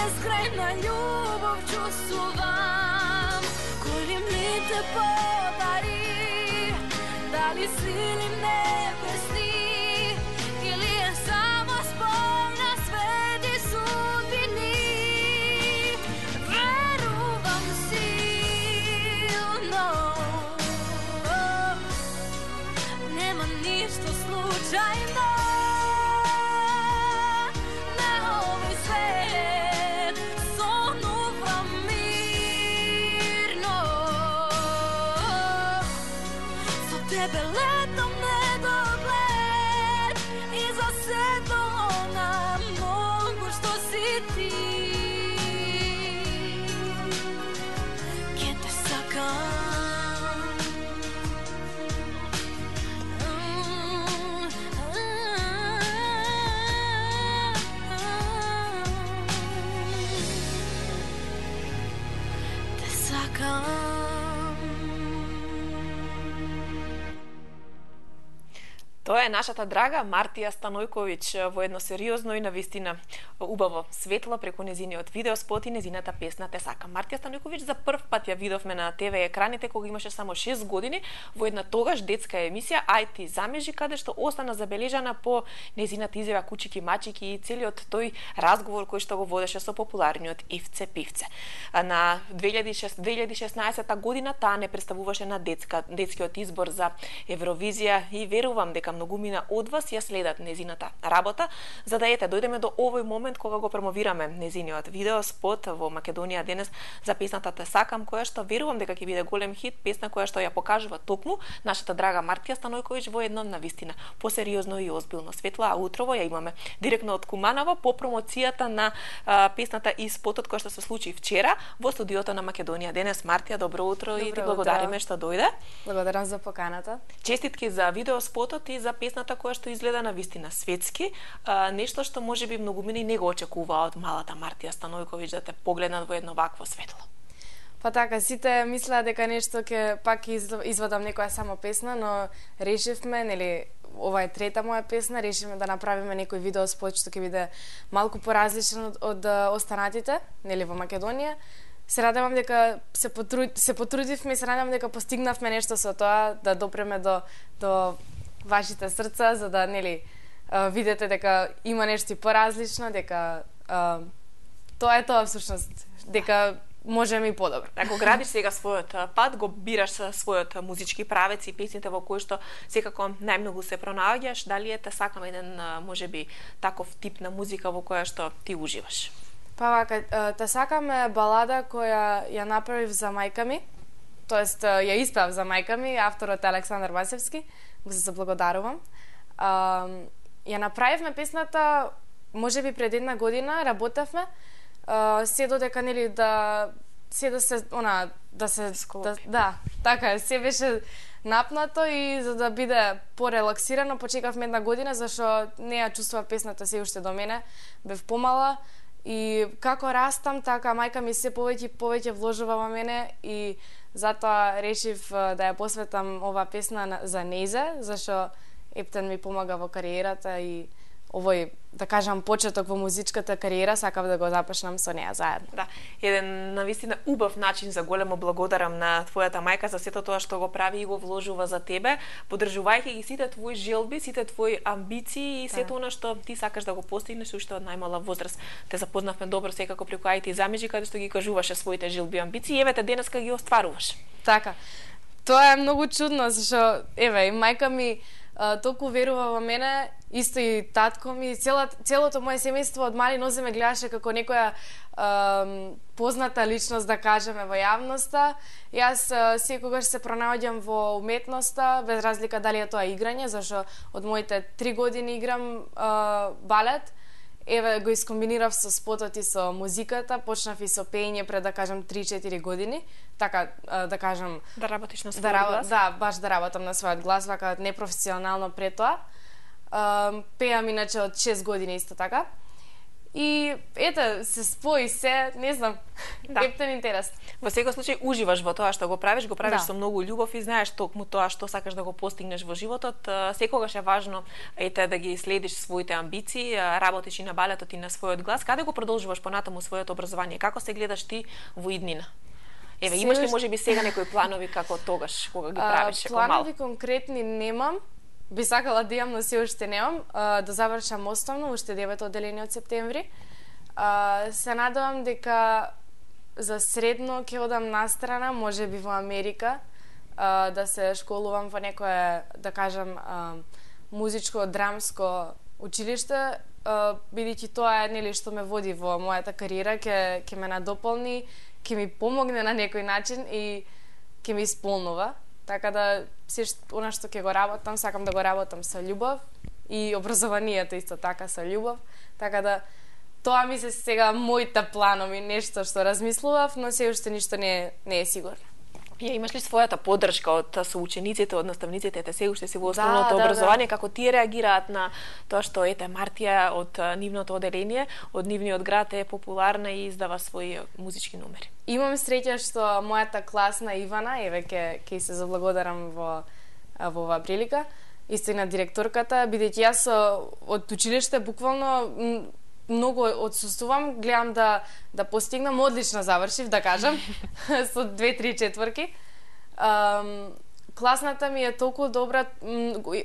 безкрајна љубов чувствувам, кој ли ми те подари, дали сили небесни или е само спој на свети судбини. Верувам силно, нема ништо случајно на овој свет, сонувам мирно, со тебе летам недоглед и за сето она многу што си ти. Ке те сакам, те сакам. Тоа е нашата драга Мартија Станојковиќ во едно сериозно и навистина убаво светло преку незиниот видеоспот и незината песна Те сакам. Мартија Станојковиќ за прв пат ја видовме на ТВ екраните кога имаше само 6 години во една тогаш детска емисија Ај ти замежи, каде што остана забележана по незината изјава Кучики мачики и целиот тој разговор кој што го водеше со популарниот Ивце Пивце. На 2016 година таа не представуваше на детскиот избор за Евровизија и верувам дека многумина од вас ја следат незината работа, за да дојдеме до овој момент кога го промовираме незиниот видеоспот во Македонија денес за песната Те сакам, која што верувам дека ќе биде голем хит, песна која што ја покажува токму нашата драга Мартија Станојковиќ во едно навистина посериозно и озбилно светло, а утрово ја имаме директно од Куманово по промоцијата на песната и спотот кој што се случи вчера во студиото на Македонија денес. Мартија, добро утро и ти благодариме што дојде. Благодарам за поканата. Честитки за видеоспотот и за песната која што изгледа навистина светски, нешто што можеби многумина не го очекуваа од малата Мартија Станојковиќ да те погледнат во едно вакво светло. Па така, сите мислеа дека нешто ќе пак извадам некоја само песна, но решивме, нели, ова е трета моја песна, решивме да направиме некој видеоспот што ќе биде малку поразличен од останатите, нели, во Македонија. Се радевам дека се потрудивме и се надевам дека постигнавме нешто со тоа, да допреме до вашите срца, за да, нели, видите дека има нешто поразлично, дека тоа е тоа всушност, дека можеме и подобро. Ако градиш сега својот пат, го бираш својот музички правец и песните во кои што секако најмногу се пронаоѓаш, дали Те сакам еден можеби таков тип на музика во која што ти уживаш? Па вака, Те сакам е балада која ја направив за мајка ми, тоест ја испеав за мајка ми, авторот е Александар Васевски, го се заблагодарувам. Ја направивме песната можеби пред една година, работевме, се додека, нели, да се скопи. Да, така е, се беше напнато и за да биде порелаксирано, почекавме една година, зашто не ја чувствував песната се уште до мене, бев помала и како растам, така мајка ми се повеќе вложува во мене и затоа решив да ја посветам ова песна за нејзе, зашто Ептен ми помага во кариерата и овој, да кажам, почеток во музичката кариера, сакав да го започнам со неа заедно. Да, еден навистина убав начин за големо благодарам на твојата мајка за сето тоа што го прави и го вложува за тебе, поддржувајќи ги сите твои желби, сите твои амбиции и сето она што ти сакаш да го постигнеш уште од најмала возраст. Те запознавме добро секако преку Ај ти замежи, каде што ги кажуваше своите желби и амбиции и еве денеска ги остваруваш. Така. Тоа е многу чудно, зашто еве, мајка ми толку верува во мене, исто и татко ми, целото моje семејство од мали нозе ме гледаше како некоја позната личност, да кажеме, во јавноста. Јас секогаш се пронаоѓам во уметноста, без разлика дали е тоа играње, зашто од моите 3 години играм балет. Еве го искомбинирав со спотот и со музиката, почнав и со пеење пред, да кажам, 3-4 години, така да кажам, да работиш на својот глас. Да, баш да работам на својот глас, вака непрофесионално пред тоа. Пеам иначе од 6 години исто така. И ете, се спои се, не знам, Да. ептен интерес. Во секој случај уживаш во тоа што го правиш Да. со многу љубов и знаеш токму тоа што сакаш да го постигнеш во животот. Секогаш е важно да ги следиш своите амбиции, работиш и на балетот и на својот глас. Каде го продолжуваш понатаму своето образование? Како се гледаш ти во иднина? Еве, имаш ли можеби сега некои планови како тогаш кога ги правиш како мал? Планови конкретни немам. Би сакала да имам, но се уште немам. Да завршам основно, уште 9 одделение од септември. Се надевам дека за средно ќе одам настрана, можеби во Америка, да се школувам во некое, да кажам, музичко, драмско училиште, бидејќи тоа е нели што ме води во мојата кариера, ќе ме надополни, ќе ми помогне на некој начин и ќе ми исполнува. Така да се она што ќе го работам, сакам да го работам со љубов и образованието исто така со љубов. Така да тоа ми се сега моите планови, нешто што размислував, но се уште ништо не е сигурно. Ја имаш ли својата поддршка од соучениците, од наставниците, се уште си во основното Да. образование, како тие реагираат на тоа што Мартија од нивното одделение, од нивниот град е популарна и издава своји музички номери? Имам среќа што мојата класна Ивана, еве ќе се заблагодарам во оваа прилика, исто и на директорката, бидејќи јас од училиште буквално многу одсуствувам, гледам да постигнам, одлично завршив, да кажам, со 2-3 четворки. Класната ми е толку добра,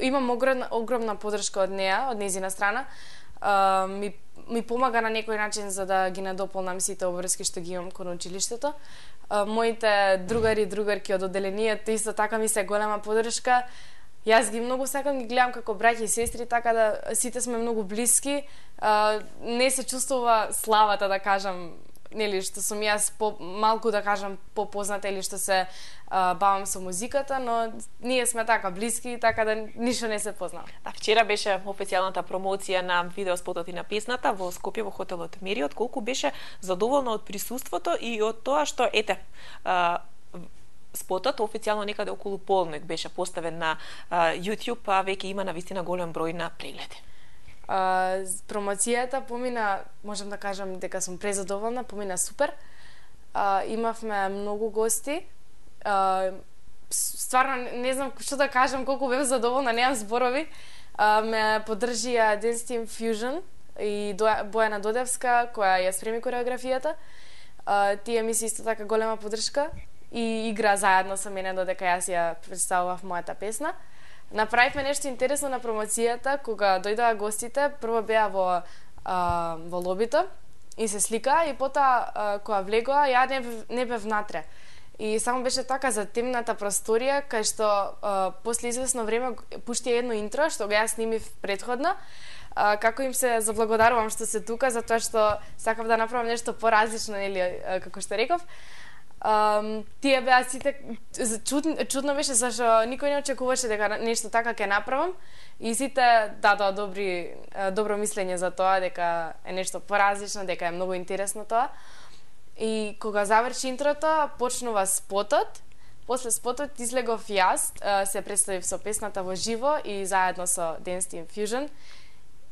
имам огромна поддршка од неа, од нејзина страна. Ми помага на некој начин за да ги надополнам сите обврски што ги имам кон училиштето. Моите другари и другарки од одделението исто така ми се голема поддршка. Јас ги многу сакам, ги гледам како браќа и сестри, така да сите сме многу блиски. Не се чувствува славата, да кажам, нели, што сум јас малку, да кажам, попозната или што се бавам со музиката, но ние сме така блиски, така да ништо не се познава. Да, вчера беше официјалната промоција на видеоспотот и на песната во Скопје во хотелот Мериот. Колку беше задоволна од присуството и од тоа што спотот официјално некаде околу полнок беше поставен на YouTube, а веќе има навистина голем број на прегледи. Промоцијата помина, можам да кажам дека сум презадоволна, помина супер. Имавме многу гости. Стварно не знам што да кажам, колку бев задоволна, немам зборови. Ме поддржија Dance Team Fusion и Бојана Додевска, која ја спреми кореографијата. Тие ми се исто така голема поддршка и игра заедно со мене додека јас ја представував мојата песна. Направивме нешто интересно на промоцијата, кога дојдоа гостите, прво беа во лобито и се слика, и потоа кога влегоа, ја не бев внатре. И само беше така за темната просторија, кај што после извесно време пушти едно интро, што го јас снимив предходно, како им се заблагодарувам што се тука, затоа што сакав да направам нешто поразлично, или како што реков. Тие беа сите чудно беше зашто никој не очекуваше дека нешто така ќе направам и сите дадоа добро мислење за тоа, дека е нешто поразлично, дека е многу интересно тоа. И кога заврши интрото, почнува спотот. После спотот излегов јас, се представив со песната во живо и заедно со Dance Team Fusion.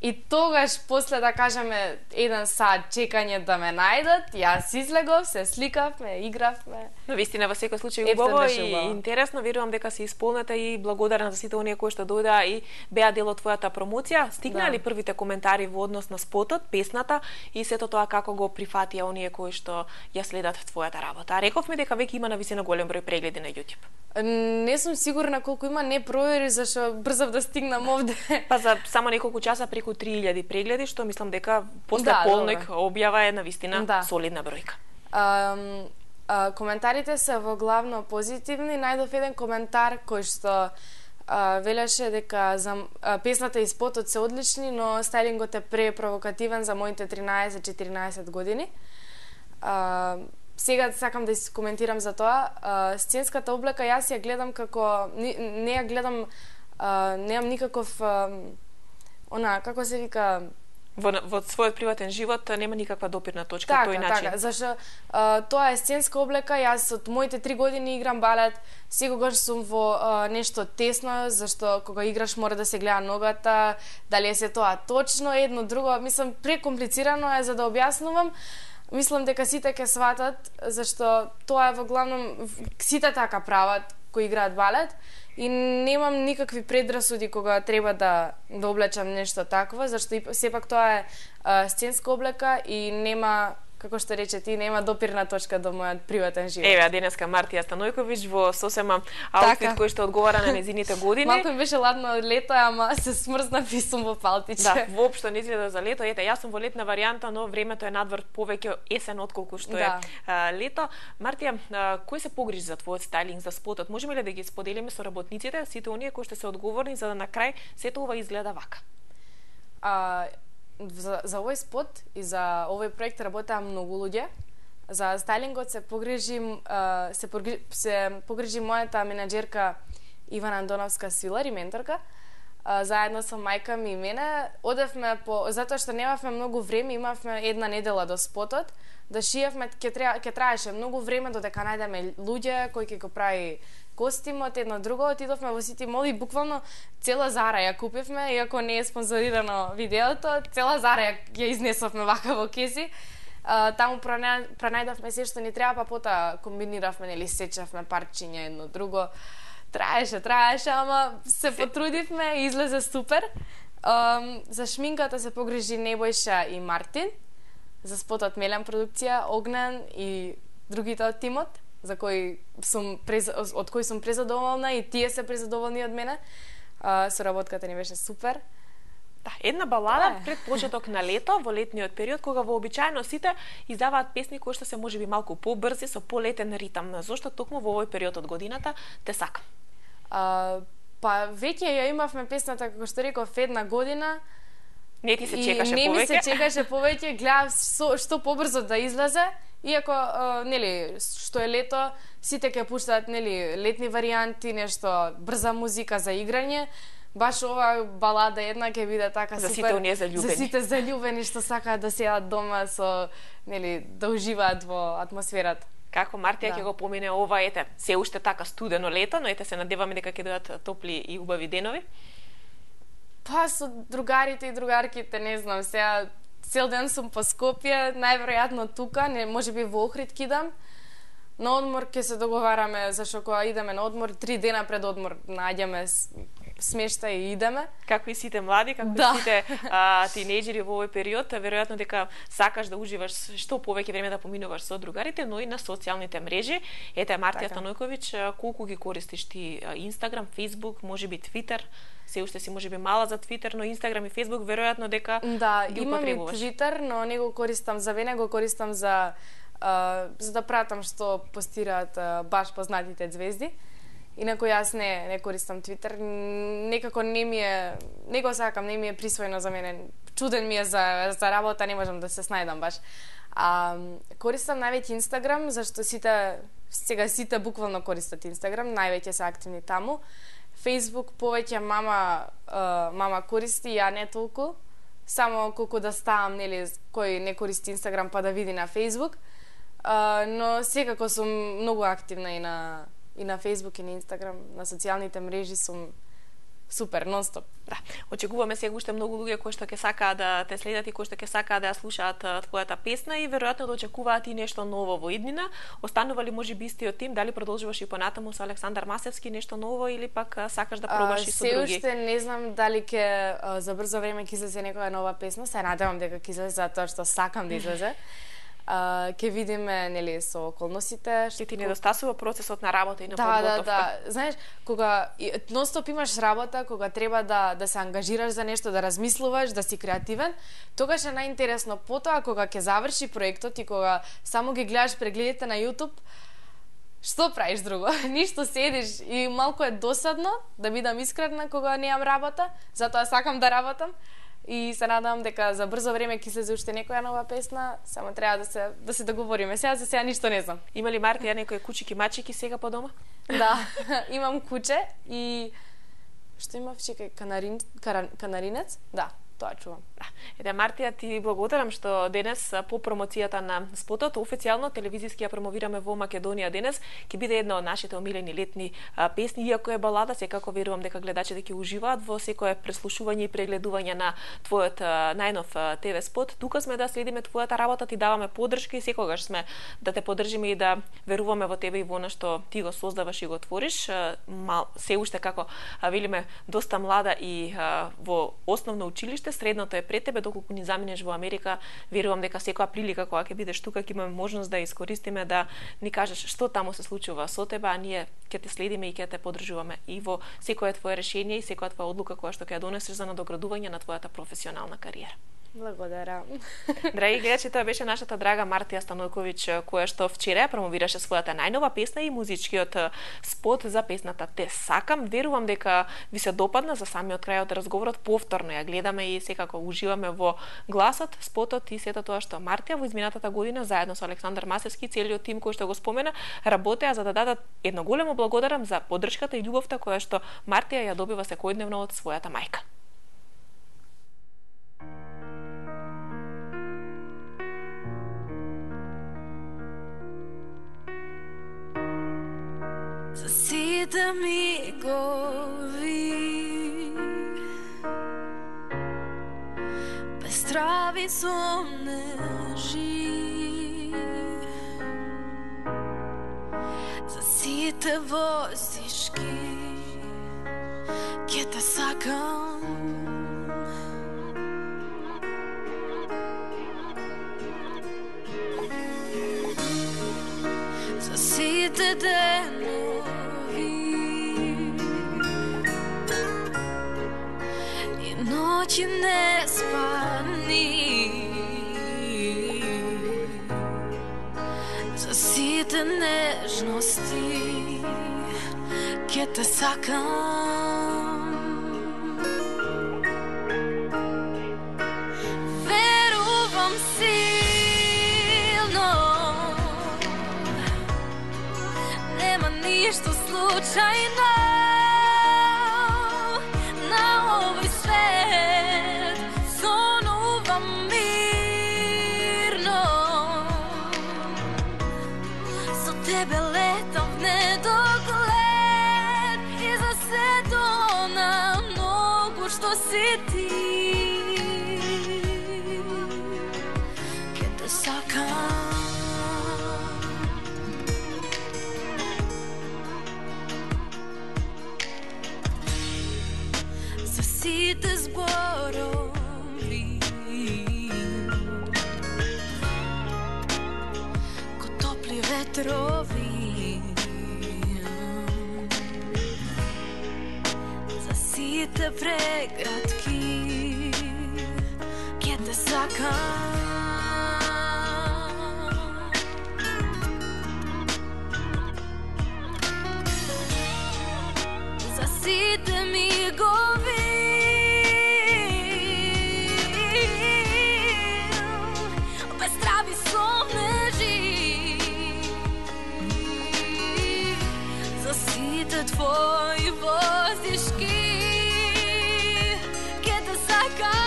И тогаш, после да кажеме 1 сат чекање да ме најдат, јас излегов, се сликавме, игравме. Но вистина во секој случај убаво и интересно, верувам дека се исполнета и благодарна за сите оние кои што дојдоа и беа дел од твојата промоција. Стигнаа ли првите коментари во однос на спотот, песната и сето тоа како го прифатија оние кои што ја следат твојата работа? Рековме дека веќе има навистина голем број прегледи на YouTube. Не сум сигурна колку има, не провери зашто брзав да стигнам овде. Па за само неколку часа преку 3000 прегледи, што мислам дека после полноќ објава е навистина солидна бројка. Коментарите се во главно позитивни. Најдов еден коментар кој што велеше дека за песната и спотот се одлични, но стајлингот е препровокативен за моите 13-14 години. Сега сакам да коментирам за тоа. Сценската облека јас ја гледам како не ја гледам, немам никаков како се вика, Во својот приватен живот нема никаква допирна точка Така, тој начин. така, зашто тоа е сценска облека, јас од моите 3 години играм балет, секогаш сум во нешто тесно, зашто кога играш мора да се гледа ногата, дали е се тоа точно, едно друго, мислам прекомплицирано е за да објаснувам. Мислам дека сите ќе сватат, зашто тоа е во главном сите така прават кои играат балет. И немам никакви предрасуди кога треба да облечам нешто такво, зашто сепак тоа е сценска облека и нема, како што рече ти, нема допирна точка до мојот приватен живот. Еве, денеска Мартија Станојковиќ во сосема аутфит кој што одговара на незините години. Малку ми беше ладно од лето, ама се смрзнав и сум во палтиче. Да, воопшто не изгледа за лето. Ете, јас сум во летна варијанта, но времето е надвор повеќе есен отколку што е лето. Мартија, кој се погрижи за твојот стајлинг, за спотот? Можеме ли да ги споделиме со работниците, сите оние кои што се одговорни за да на крај сето ова изгледа вака? За овој спот и за овој проект работеа многу луѓе. За стајлингот се погрижи мојата менаџерка Ивана Андоновска Свилар и менторка. Заедно со мајка ми и мене одевме затоа што немавме многу време, имавме една недела до спотот, да шиевме, ќе траеше многу време додека најдеме луѓе кои ќе го прави костимот, едно друго, отидовме во Сити Мол и буквално цела Зара ја купивме, иако не е спонзорирано видеото, цела Зара ја изнесовме вака во кеси. Таму пронајдовме се што ни треба, па потоа комбиниравме, нели, сечавме парчиња едно друго. Траеше, ама се потрудивме и излезе супер. За шминката се погрижи Небојша и Мартин, за спотот Мелен продукција, Огнен и другите од тимот, од кој сум презадоволна и тие се презадоволни од мене. Соработката ни беше супер. Да, една балада пред почеток на лето, во летниот период, кога вообичаено сите издаваат песни кои што се можеби малку побрзи, со полетен ритам. Зошто токму во овој период од годината те сакам? Па веќе ја имавме песната, како што реков, една година. Не ти се чекаше повеќе? Не ми се чекаше повеќе, гледав што побрзо да излезе, иако, нели, што е лето, сите ќе пуштаат, нели, летни варијанти, нешто брза музика за играње. Баш ова балада една ќе биде така за супер. Сите оние заљубени. За сите заљубени што сакаат да седат дома со, нели, да уживаат во атмосферата. Како Мартија ќе го помине ова, ете, се уште така студено лето, но ете се надеваме дека ќе дојдат топли и убави денови? Па со другарите и другарките, не знам, сега цел ден сум по Скопје, најверојатно тука, не можеби во Охрид кидам. На одмор ќе се договараме, зашто кога идеме на одмор, 3 дена пред одмор најдеме смешта и идеме. Како и сите млади, како и сите тинејџери во овој период, веројатно дека сакаш да уживаш што повеќе време да поминуваш со другарите, но и на социјалните мрежи. Ете, Мартија Станојковиќ, колку ги користиш ти Инстаграм, Фејсбук, можеби Твитер? Се уште си можеби мала за Твитер, но Инстаграм и Фејсбук веројатно дека ги имам и употребуваш. Твитер, но не го користам за мене, го користам за да пратам што постираат баш познатите звезди. Инаку јас не користам Твитер, некако не го сакам, не ми е присвоено за мене. Чуден ми е за работа, не можам да се снајдам баш. Користам највеќе Инстаграм, зашто сите буквално користат Инстаграм, највеќе се активни таму. Фејсбук повеќе мама користи, ја не толку. Само колку да ставам, нели, кој не користи Инстаграм па да види на Фејсбук. Но секако сум многу активна и на Фејсбук и на Инстаграм, на социјалните мрежи сум супер, нон-стоп. Да, очекуваме сега уште многу луѓе кои што ќе сакаат да те следат и кои што ќе сакаат да ја слушаат твојата песна и веројатно да очекуваат и нешто ново во иднина. Останува ли можеби истиот тим, дали продолжуваш и понатаму со Александар Масевски нешто ново или пак сакаш да пробаш и со други? Се уште не знам дали ќе за брзо време ќе излезе некоја нова песна, се надевам дека ќе излезе затоа што сакам да излезе. Ќе видиме, нели, со околностите. Што ти недостасува процесот на работа и на подготовка. Да. Знаеш, кога нон-стоп имаш работа, кога треба да се ангажираш за нешто, да размислуваш, да си креативен, тогаш е најинтересно. Потоа, кога ќе заврши проектот и кога само ги гледаш прегледите на YouTube, што правиш друго? Ништо, седиш и малку е досадно, да бидам искрена, кога немам работа, затоа сакам да работам. И се надам дека за брзо време ќе се уште некоја нова песна, само треба да се договориме. Сега ништо не знам. Има ли Мартија некои кучики мачики сега по дома? Да, имам куче и што имав, чекај, канаринец? Да. тоа чувам. Ете, Мартија, ти благодарам што денес по промоцијата на спотот официјално телевизиски ја промовираме во Македонија денес. Ќе биде една од нашите омилени летни песни, иако е балада, секако верувам дека гледачите ќе уживаат во секое преслушување и прегледување на твојот најнов ТВ спот. Тука сме да следиме твојата работа, ти даваме поддршка и секогаш сме да те поддржиме и да веруваме во тебе и во она што ти го создаваш и го твориш. Се уште како велиме доста млада и во основно училиште, средното е пред тебе, доколку ни заминеш во Америка, верувам дека секоја прилика кога ќе бидеш тука ќе имаме можност да искористиме да ни кажеш што таму се случува со тебе, а ние ќе те следиме и ќе те поддржуваме и во секое твое решение и секоја твоја одлука која што ќе ја донесеш за надоградување на твојата професионална кариера. Благодарам. Драги гледачи, тоа беше нашата драга Мартија Станојковиќ, која што вчера промовираше својата најнова песна и музичкиот спот за песната Те сакам. Верувам дека ви се допадна. За самиот крај од разговорот повторно ја гледаме и секако уживаме во гласот, спотот и сето тоа што Мартија во изминатата година заедно со Александар Масевски, целиот тим кој што го спомена, работеа за да дадат едно големо благодарам за поддршката и љубовта која што Мартија ја добива секојдневно од својата мајка. За сите мигови без трави сомнежи, за сите воздишки ќе те сакам. За сите денови и ноќи неспани, за сите нежности ќе те сакам. Верувам силно, нема ништо случајно на овој свет. Сонувам мирно, со тебе летам в недоглед и за сето на многу што си ти ќе те сакам. За сите зборови ко топли ветрови, за сите прегратки ќе те сакам. За сите мигови без трави сомнежи, за сите твои воздишки ќе те сакам.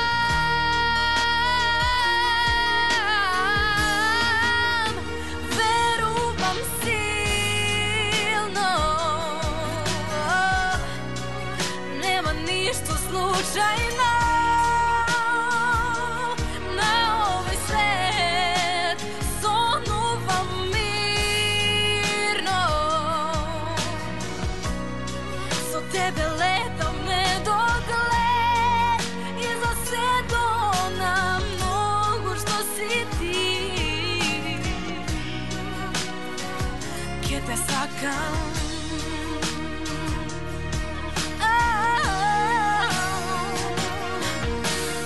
Верувам силно, нема ништо случајно на овој свет. Сонувам мирно, со тебе летам недоглед и за сето на многу што си ти ќе те сакам.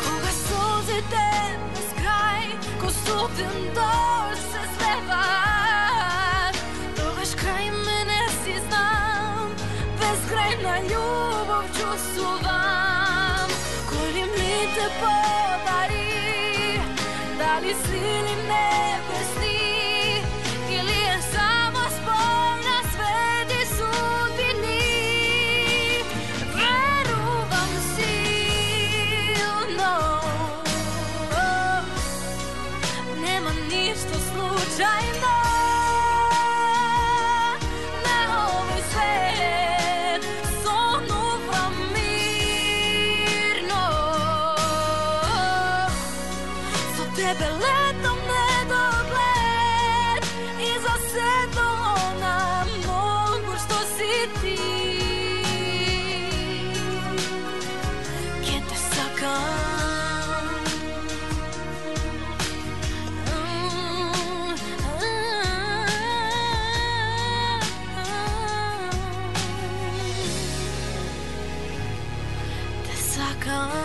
Кога солзите без крај ко студен дожд се слеваат, тогаш крај мене си знам, безкрајна љубов чувствувам. Коли ми те подари, дали сили небесни или е само спој на свети судбини. Верувам силно, come